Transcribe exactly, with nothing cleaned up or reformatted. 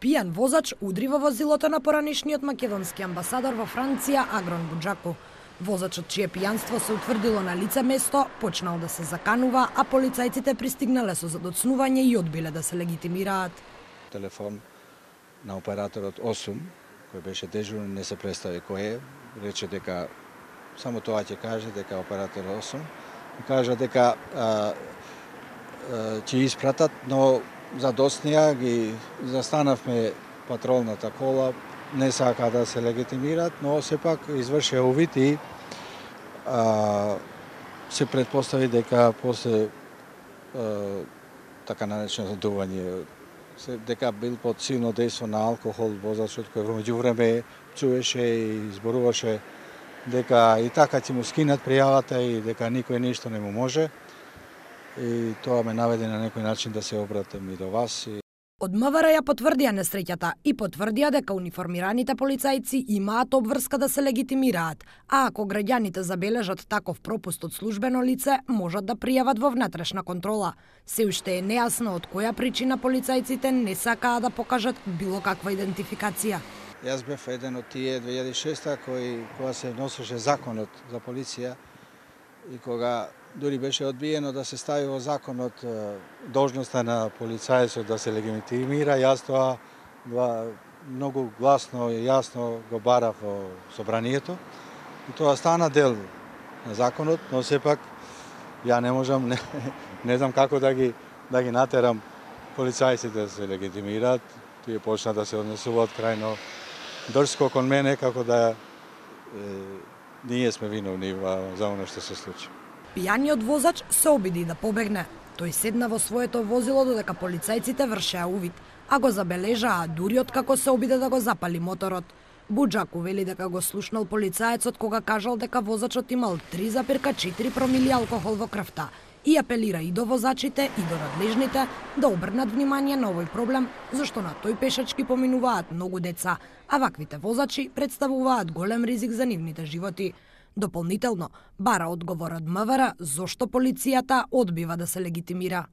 Пијан возач удри во возилото на поранишниот македонски амбасадор во Франција Агрон Буџаку. Возачот, чие пијанство се утврдило на лице место, почнал да се заканува, а полицајците пристигнале со задоцнување и одбиле да се легитимираат. Телефон на операторот осум, кој беше дежурен, не се представи кој е, рече дека само тоа ќе каже дека оператор осум, и кажа дека а, а, ќе испратат, но задоцнија ги застанавме патролната кола, не сака да се легитимираат, но сепак извршија увид и а, се предпостави дека после а, така наречено задување, дека бил под силно дејство на алкохол возачот, кој во меѓувреме чуеше и зборуваше дека и така ќе му скинат пријавата и дека никој ништо не му може. И тоа ме наведе на некој начин да се обратам и до вас. Од МВР ја потврдија несреќата и потврдија дека униформираните полицајци имаат обврска да се легитимираат, а ако граѓаните забележат таков пропуст од службено лице, можат да пријават во внатрешна контрола. Се уште е нејасно од која причина полицајците не сакаа да покажат било каква идентификација. Јас бев еден од тие две илјади и шеста кој кога се носеше законот за полиција и кога дури беше одбиено да се стави во законот должноста на полицајецот да се легитимира, јас тоа многу гласно и јасно го барав во собранието. И тоа стана дел на законот, но сепак ја не можам, не, не знам како да ги да ги натерам полицајците да се легитимираат. Тие почна да се однесуваат крајно дрско кон мене, како да е, ние сме виновни за оно што се случи. Пијаниот возач се обиди да побегне. Тој седна во своето возило додека полицајците вршеа увид, а го забележаа дури откако се обиде да го запали моторот. Буџаку вели дека го слушнал полицаецот кога кажал дека возачот имал три запирка четири промили алкохол во крвта и апелира и до возачите и до надлежните да обрнат внимание на овој проблем, зашто на тој пешачки поминуваат многу деца, а ваквите возачи представуваат голем ризик за нивните животи. Дополнително, бара одговор од МВР зошто полицијата одбива да се легитимира.